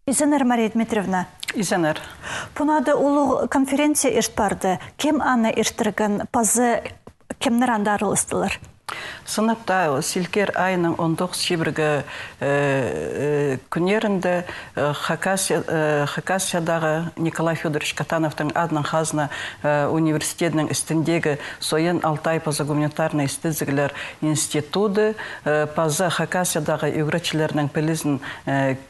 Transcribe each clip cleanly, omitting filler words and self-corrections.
Изенер Мария Дмитриевна. Изенер. Пунады улу конференция ирт барды. Кем аны ирттірген пазы кемнер анда арылыстылар? Сыныпта силкер айының 19 шибіргі күнерінде Хакасиядағы Николай Федорович Катановтың адының қазына университетінің істіндегі Сойын Алтай пазы гуманитарный істізігілер институты пазы Хакасиядағы үйгіречілерінің пілізін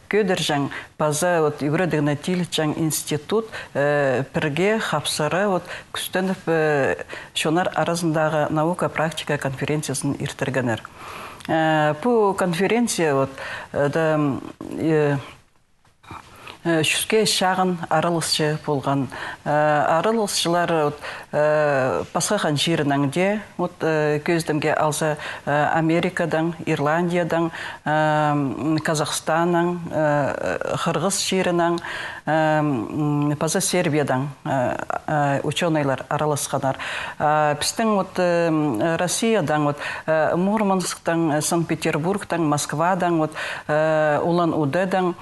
көдіржің пазы үйгіредігіне тилітжің институт пірге қапсары күстініп шонар арасындағы наука-практика конференциясын иртіргенер. Бұл конференция шүске шағын арылысшы болған. Арылысшылар пасқақан жерініңде көздімге алса Америкадан, Ирландиядан, Казахстанның, Қырғыз жерінің, паза Сербиядан ученыйлар араласқанар. Біздің Россиядан, Мурмансктан, Санкт-Петербургтан, Москвадан, Улан-Удедан,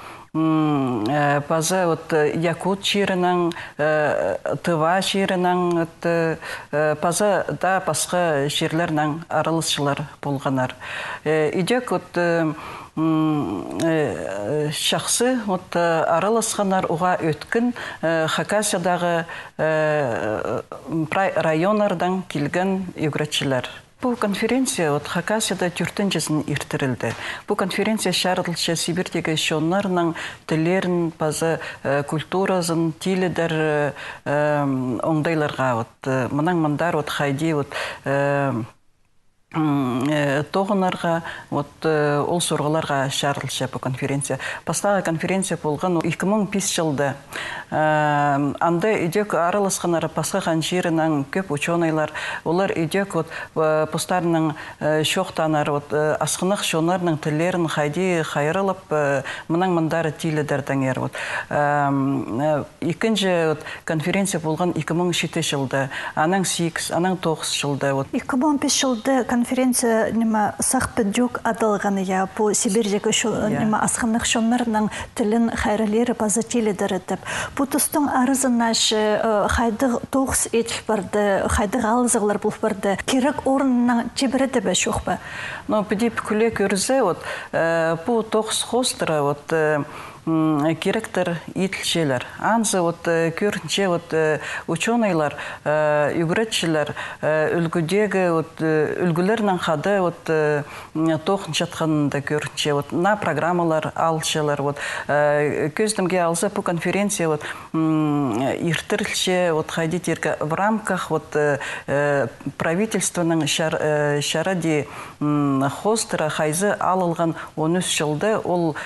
паза Якут жерінің, Тыва жерінің, паза да басқа жерлерінің аралысшылар болғанар. Идек шақсы араласқанар уға өткін Хакасиядағы районардан келген үйгіретшілер. Бұл конференция Хакасияда түртінжесін иртірілді. Бұл конференция шарылшы Сибирдегі шонларының тілерін, пазы культуразын, тілідер оңдайларға. Мұндар қайди тоғынарға, ол сұрғыларға шарылшы бұл конференция. Пастағы конференция болған 2005 жылды. Анда үйдек араласқанары пасқаған жерінің көп ученыйлар, олар үйдек постарының шоқтанар, асқынық шонарының тілерін қайди қайырылып, мұндары тіледердің ер. Екінші конференция болған 2007 жылды, аның 8, аның 9 жылды. 2005 жылды конференция сақпы жүк адылғаны я, бұл Сибирдегі асқынық шонарының тілін қайрылері пазы тіледер етіп. Бұл тұстың арызына қайдық 9 етіп барды, қайдық алызығылар бұл барды. Керек орынның жебіреді бә шоқ ба? Підіп күлі көрізе, бұл 9 қостыры, керектер етілшелер. Анзы көрінше ученыйлар, үйгіретшілер, үлгідегі үлгілерінің қады тоқын жатқанында көрінше. На программалар алшылар. Көздімге алса бұл конференция иртірілше қайдетергі в рамках правительственның шаради хостыра қайзы алылған 13 жылды ол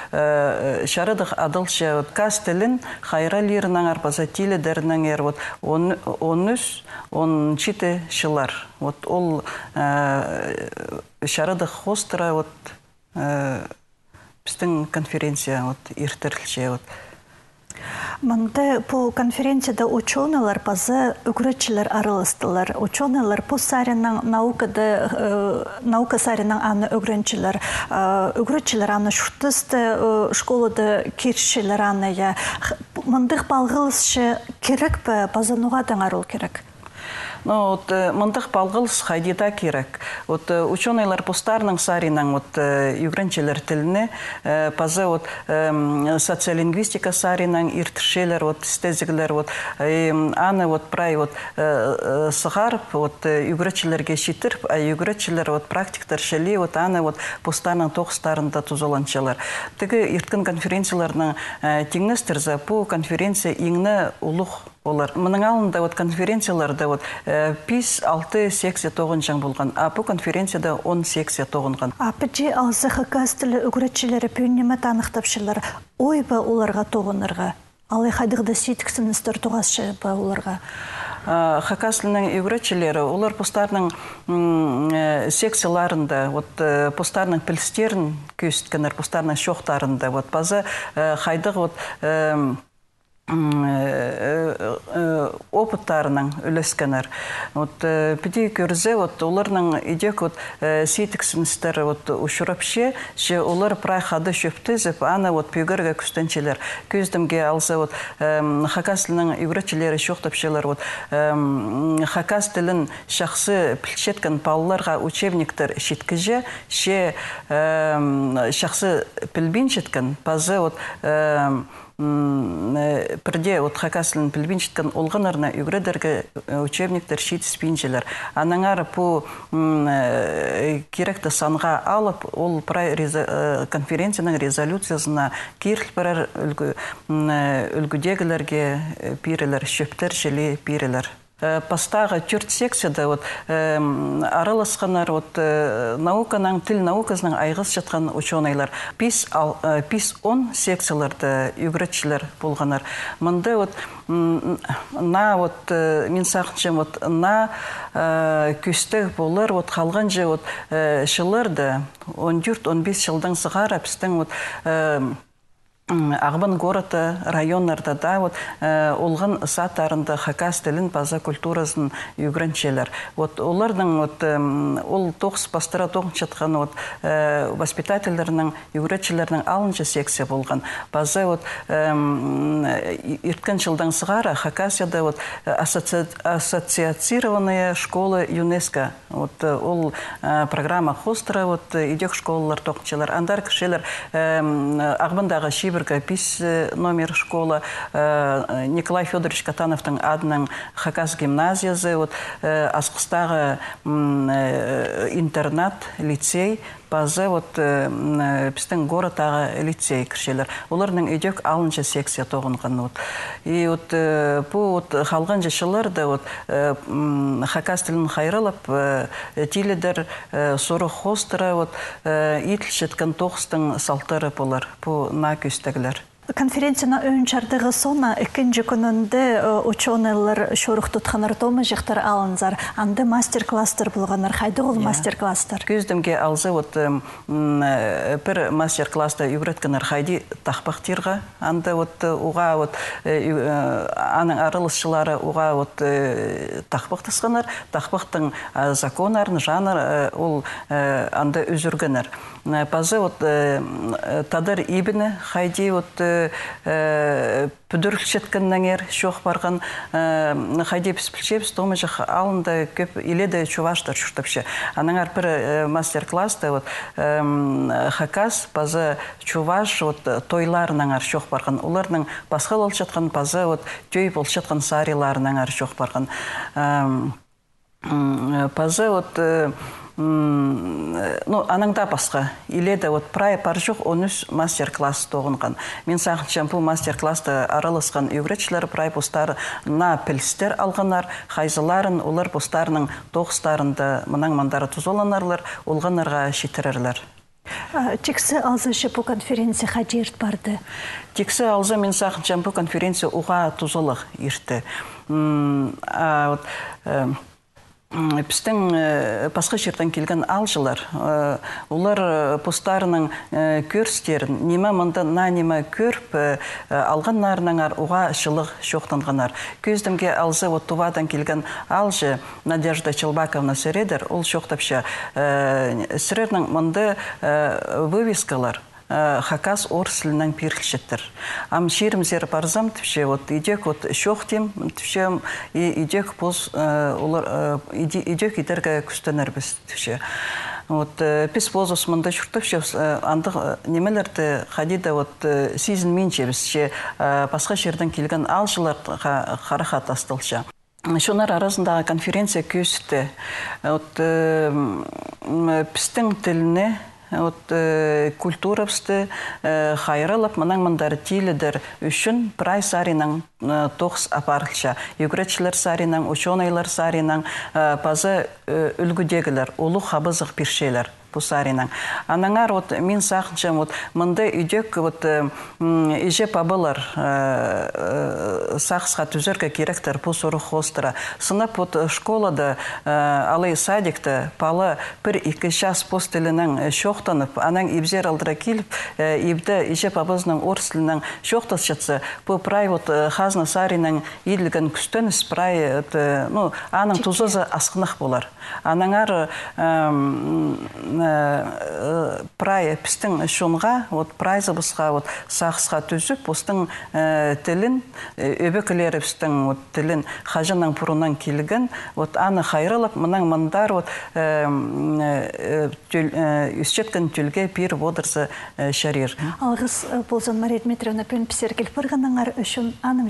шарады адылшы каз тілін қайралерінің арпаза тілі дәрінің ер 13-17 жылар. Ол шарады хостыра біздің конференция ертірілше. Маңда бұл конференцияда ученыйлар пазы үгіретшілер арылыстылар. Ученыйлар бұл сарының наука сарының аны үгіретшілер. Үгіретшілер аны шүртісті школады кершілер аны. Маңдық балғылысшы керек бі пазануғадан арыл керек? Мындық балғылыс қайдеда керек. Ученыйлар постарының сарының үйгіренчелер тіліне, пазы социолингвистика сарының иртішелер, стезігілер, аны прай сығарып, үйгіречелерге шетіріп, үйгіречелер практиктар шелі, аны постарының тоқыстарында тұзоланчалар. Тігі ирткен конференцияларының теңнестірзі, бұл конференция еңні ұлық олар. Мұның алында конференцияларда 5-6 секция тоғынжан болған. Бұл конференцияда 10 секция тоғынған. Апыджи алсы Хакас тілі үгіретшілері пүйінеме танықтапшылар. Ой ба оларға тоғынырға? Алай қайдығда сейткісіністер тоғасшы ба оларға? Хакас тілінің үгіретшілері, олар постарының секцияларында, постарының пілістерін көсіткенер, постарының шоқтарында, базы қайдығы опыттарының үлескенер. Піде көрзе, оларның идек сейтіксімістері ұшырапше, олар прайхады шөптізіп, аны пүйгерге күстенчелер. Көздімге алса, хакас тілінің үйретчелері шоқтапшелер. Хакас тілін шақсы пілшеткен пауларға учебниктер шеткіже, шақсы пілбін шеткен, пазы Бірде хакасылын пілбіншіткен олғанарына үгредерге учебниктер шет спинчелер. Анаңар по керекті санға алып, ол конференцияның резолюциясына керіл бірер үлгідегілерге пирелер, шөптер желе пирелер. Пастағы түрт секцияда араласқанар науканың, тіл наукасының айғыз жатқан ученыйлар. 5-10 секцияларды үгретшілер болғанар. Мұнда мен сақыншым күсті болыр, қалған же шылырды 14-15 жылдан сығар әпістің Ағбан городы, районларда олған саттарында хакас тілін база культурасын үйгіріншелер. Олардың ол тоғыз бастыра тоғын жатқан воспитательдерінің, үйгіретшілерінің алыншы секция болған. База ирткен жылдан сығара хакасияда ассоциацированная школа ЮНЕСКО. Ол программа хостера идек школалар тоқыншелер. Андар кішелер Ағбандағы Шибіргі 5 номер школа, Николай Федорович Катановтың адының хакас гимназиясы, Асқыстағы интернат, лицей, базы біздің городтағы лицей кіршелер. Олардың үйдек алыншы секция тоғынған. И қалған жешілерді хакас тілін қайрылып, тиледер сұры хостыры, итілшеткен тоғыстың салтары болар, бұл на көстегілер. Конференцияна өңчардығы сона ikkinchi kununda ученыйлар шорух тұтқанар тома жақтар алынзар. Анды мастер-кластер болғанар. Қайды ол мастер-кластер? Көздімге алзы бір мастер-класты үйреткенер қайды тақпақтирға. Анды уға аның арылысшылары уға тақпақтысқанар. Тақпақтың законарын, жанр ол анды үзіргенер. Пазы тадыр ибіні қайды пүдірілшеткеннен шоқ барған қайды піспілшепс, томы жақ алынды көп иледі чуваштар шүртіпші. Аныңар бір мастер-класты хакас базы чуваш тойларынан шоқ барған. Оларының басқа ол жатқан базы төй бол жатқан сариларынан шоқ барған. Базы аныңда басқа. Иледі прай паржық 13 мастер-класс тоғынған. Мен сағыншам бұл мастер-классты аралысқан үйретшілер прай бұстары на пілістер алғанар, қайзыларын, олар бұстарының тоғыстарында мұнан мандары тұзоланарлар, олғанарға шетірерлер. Тексі алзышы бұл конференция қадерт барды? Тексі алзы мен сағыншам бұл конференция уға тұзолық ерті. Біздің басқа жерден келген алжылар, олар постарының көрстерін, нема мұнда на нема көріп алғанларынан уға шылық шоқтанғанар. Көздімге алзы тувадан келген алжы Надежда Челбаковна Середер, ол шоқтапша сірерінің мұнда вывескалар. Хакас орыс тілінен перілшеттір. Ам шерімзер барзам түпше, идек шоқтем түпше, идек идерге күстенер біз түпше. Пес позос мұнда шүртіпше, андық немелерді қадида сезін менше бізше басқа жерден келген алжылар қарақат астылша. Шонар арасындағы конференция көсті. Пістің тіліне культуравсты хайралып, мұнан мұндары тилідер үшін прай саринан тоғыз апарылша. Югретшілер саринан, ученыйлар саринан, базы үлгідегілер, олу қабызық піршелер. пусаринан. Анаңар вот мен сақыншам вот мындай үйдек вот иже пабылар сақсқа түзерге керектер пу сору хостыра. Сынап вот школада алай садикта палы бір 2 час постелінен шоқтанып, анан ибзер алдыра келіп, ибді иже пабызның орслінің шоқтас жатса, бұл прай вот хазна саринан идлген күстен спрай, ну, аның тузызы асқынық болар. Анаңар прай пістің шонға, вот прайзы бұсқа вот сақсқа түзіп, бұстың тілін, өбекілері пістің вот тілін хажының пұрынан келген, вот аны хайрылып, мұнан мындар вот үстеткен түлге пир бодырсы шарир. Алғыз болзан Мария Дмитриевна пен пісергел пырғанаңар үшін аным